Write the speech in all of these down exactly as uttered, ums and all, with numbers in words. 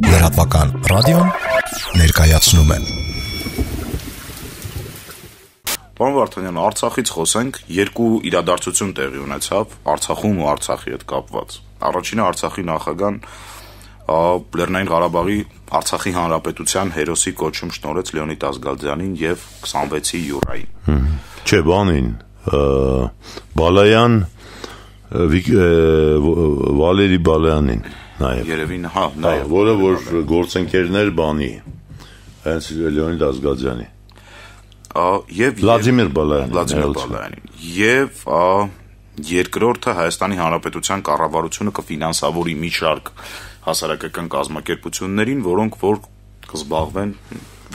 Լրատվական ռադիոն ներկայացնում է։ Պարոն Վարդանյան, Արցախից խոսենք, երկու իրադարձություն տեղի ունեցավ Արցախում ու Արցախի հետ կապված։ Առաջինը Արցախի նախագահան Լեռնային Ղարաբաղի Արցախի Հանրապետության հերոսի կոչում շնորհեց Լեոնիդ Ազգալդյանին եւ քսանվեցի յուրային։ Չէ, բանին, Բալայան, Վալերի Բալայանին նաեւ։ Երևին, հա, նաեւ, որը որ գործընկերներ բանի, հենց Լեոնիդ Ազգալդյանի։ Եվ Վլադիմիր Բալայանին, Վլադիմիր Բալայանին։ Եվ երկրորդը Հայաստանի Հանրապետության կառավարությունը կֆինանսավորի մի շարք հասարակական կազմակերպություններին, որոնք որ կզբաղվեն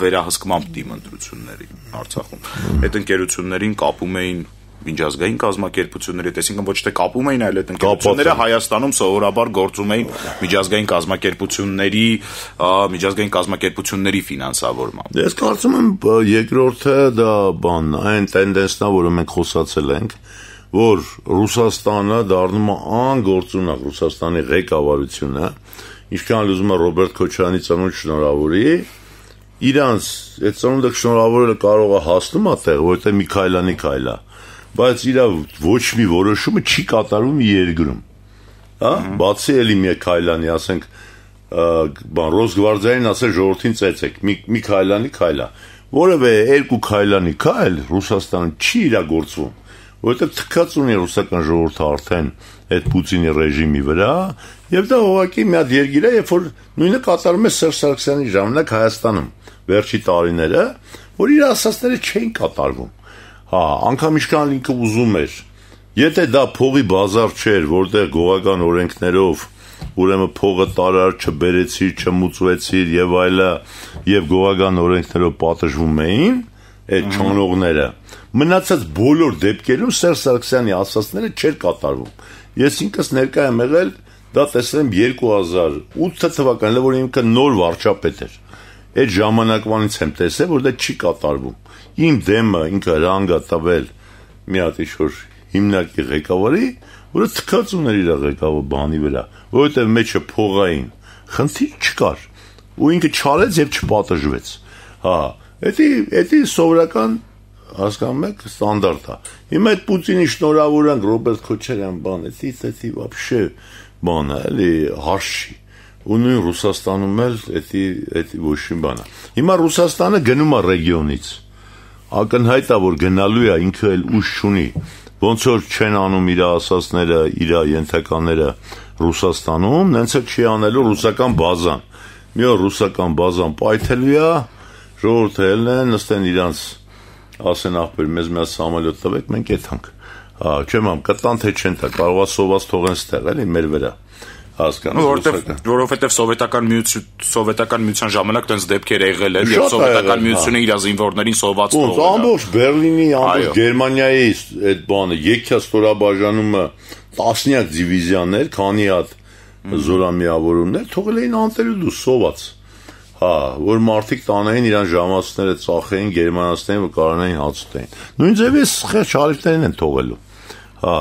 վերահսկմամբ դիմընտրությունների Արցախում։ Այդ ընկերություններին կապում էին միջազգային կազմակերպությունների, այսինքն ոչ թե կապում էին, այլ այդ ընկերությունները Հայաստանում սովորաբար գործում էին միջազգային կազմակերպությունների, միջազգային կազմակերպությունների ֆինանսավորմամբ։ Ես կարծում եմ երկրորդը դա բան, այն տենդենսն է, որը մենք խոսացել ենք, որ Ռուսաստանը դառնում է անգործունակ Ռուսաստանի ղեկավարությունը, ինչքան ուզում է Ռոբերտ Քոչարյանի ծնունդ շնորհավորի, իրանց այդ ծնունդը շնորհավորելը կարող է հասնում այդտեղ, որտեղ մի քայլանի քայլա, բայց իր ոչ մի որոշումը չի կատարվում երկրում։ Հա, բացի էլի մի քայլանի, ասենք, բան Ռոսգվարդիային ասել ժողովրդին ծեծեք, մի մի քայլանի քայլա, որևէ երկու քայլանի քայլ Ռուսաստանը չի իրագործվում, որովհետև թքած ունի ռուսական ժողովուրդը արդեն այդ Պուտինի ռեժիմի վրա, եւ դա ուղղակի մի հատ երկիր է, երբ որ նույնը կատարում է Սերժ Սարգսյանի ժամանակ Հայաստանում վերջի տարիները, որ իր ասածները չէին կատարվում։ Հա, անգամ ինչքան ինքը ուզում էր, եթե դա փողի բազար չէր, որտեղ գողական օրենքներով ուրեմն փողը տարար, չբերեցիր, չմուծվեցիր եւ այլը, եւ գողական օրենքներով պատժվում էին այդ չոնողները, մնացած բոլոր դեպքերում Սերժ Սարգսյանի ասածները չէր կատարվում։ Ես ինքս ներկա եմ եղել, դա տեսել եմ երկու հազար ութ թվականին, որ ինքը նոր վարչապետ էր։ Այդ ժամանակվանից եմ տեսել, որ դա չի կատարվում։ Իմ դեմը ինքը հրանգ է տվել մի հատ ինչ-որ հիմնարկի ղեկավարի, որը թքած ուներ իր ղեկավար բանի վրա, որովհետև մեջը փողային խնդիր չկար, ու ինքը չարեց եւ չպատժվեց։ Հա, դա դա սովորական հասկանում եք ստանդարտ է։ Հիմա այդ Պուտինի շնորհավորանք Ռոբերտ Քոչարյան բան, դա դա вообще բան է, էլի հարց չի։ Ու նույն Ռուսաստանում էլ դա դա ոչ մի բան է։ Հիմա Ռուսաստանը գնում է ռեգիոնից։ Ակնհայտ է, որ գնալու է, ինքը էլ ուժ չունի։ Ոնց որ չեն անում իր ասածները, իր ենթականները Ռուսաստանում, նենց էլ չի անելու ռուսական բազան։ Մի օր ռուսական բազան պայթելու է, ժողովուրդը ելնեն, նստեն իրանց ասեն ախպեր, մեզ մի սամոլյոտ տվեք, մենք եթանք։ Հա, չեմ ամ, կտան թե չեն տա, կարող է սոված թողեն ստեղ, էլի մեր վրա։ Հասկանում եք, որովհետև սովետական միություն, սովետական միության ժամանակ տենց դեպքեր եղել են, եւ սովետական միությունը իր զինվորներին սոված թողել։ Ոնց ամբողջ Բերլինի, ամբողջ Գերմանիայի այդ բանը, եկյա ստորաբաժանումը տասնյակ դիվիզիաներ, քանի հատ զորամիավորումներ թողել էին անտերուդու սոված։ Հա, որ մարդիկ տանային իրան ժամացները ծախեին, գերմանացներին, որ կարողանային հաց ուտեին։ Նույն ձևի խեղճ հարիվներին են թողելու։ Հա,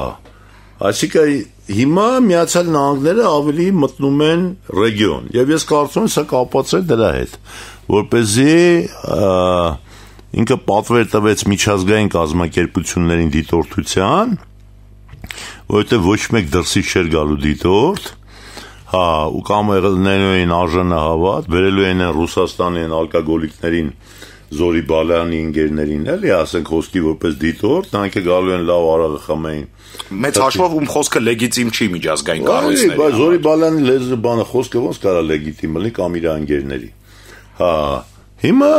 այսինքն հիմա Միացյալ Նահանգները ավելի մտնում են ռեգիոն, եւ ես կարծում եմ սա կապված է դրա հետ, որպեսզի ինքը պատվեր տվեց միջազգային կազմակերպություններին դիտորդության, որովհետեւ ոչ մեկ դրսից չէր գալու դիտորդ։ Հա, ու կամ եղելներն էին արժանը հավատ, վերելու են Ռուսաստանի են ալկոգոլիկներին, Զորի Բալայանի ընկերներին, էլի ասենք խոսքի որպես դիտորդ, նրանք է գալու են լավ արաղը խմեին։ Մեծ հաշվով ում խոսքը լեգիտիմ չի միջազգային կառույցների։ Բայց Զորի Բալայանի լեզու բանը խոսքը ոնց կարա լեգիտիմ լինի կամ իր ընկերների։ Հա, հիմա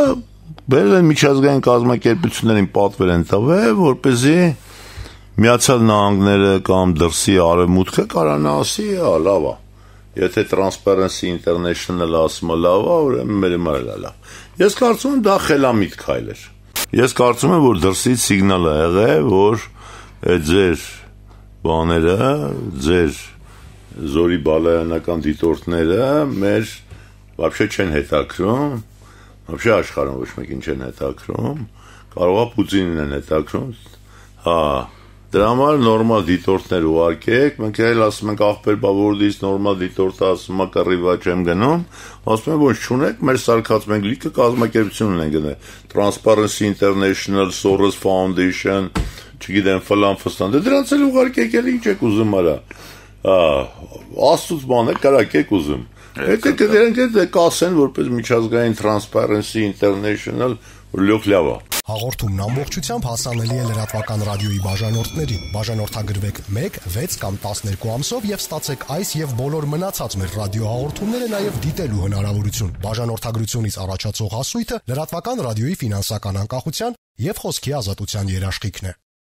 բերել են միջազգային կազմակերպություններին պատվեր են տվել, որպեսզի Միացյալ Նահանգները կամ դրսի արևմուտքը կարողանա ասի, հա, լավ է։ Եթե Transparency International ասում է լավ է, ուրեմն մեր մայրը լավ։ Ես կարծում եմ դա խելամիտ քայլ էր։ Ես կարծում եմ, որ դրսից սիգնալ է եղել, որ այդ ձեր բաները, ձեր Զորի Բալայանական դիտորդները մեր вообще չեն հետաքրում, вообще աշխարհում ոչ մեկին չեն հետաքրում, կարող է Պուտինին են հետաքրում։ Հա, Դրա համար նորմալ դիտորդներ ուղարկեք, մենք էլ ասում ենք ախպեր բավորդից նորմալ դիտորդը ասում է կռիվա չեմ գնում, ասում են ոչ չունեք, մեր սարքած մենք լիքը կազմակերպություն ունենք գնել, Transparency International, Soros Foundation, չգիտեմ, ֆլան ֆստան, դե դրանց էլ ուղարկեք, էլ ինչ եք ուզում արա, աստուց բան է, կարակ եք ուզում, հետո դրանք էլ կասեն, որպես միջազգային Transparency International, լյոխ լավ է։ Հաղորդումն ամբողջությամբ հասանելի է լրատվական ռադիոյի բաժանորդներին։ Բաժանորդագրվեք մեկ, վեց կամ տասներկու ամսով եւ ստացեք այս եւ բոլոր մնացած մեր ռադիոհաղորդումները նաեւ դիտելու հնարավորություն։ Բաժանորդագրությունից առաջացող հասույթը լրատվական ռադիոյի ֆինանսական անկախության եւ խոսքի ազատության երաշխիքն է։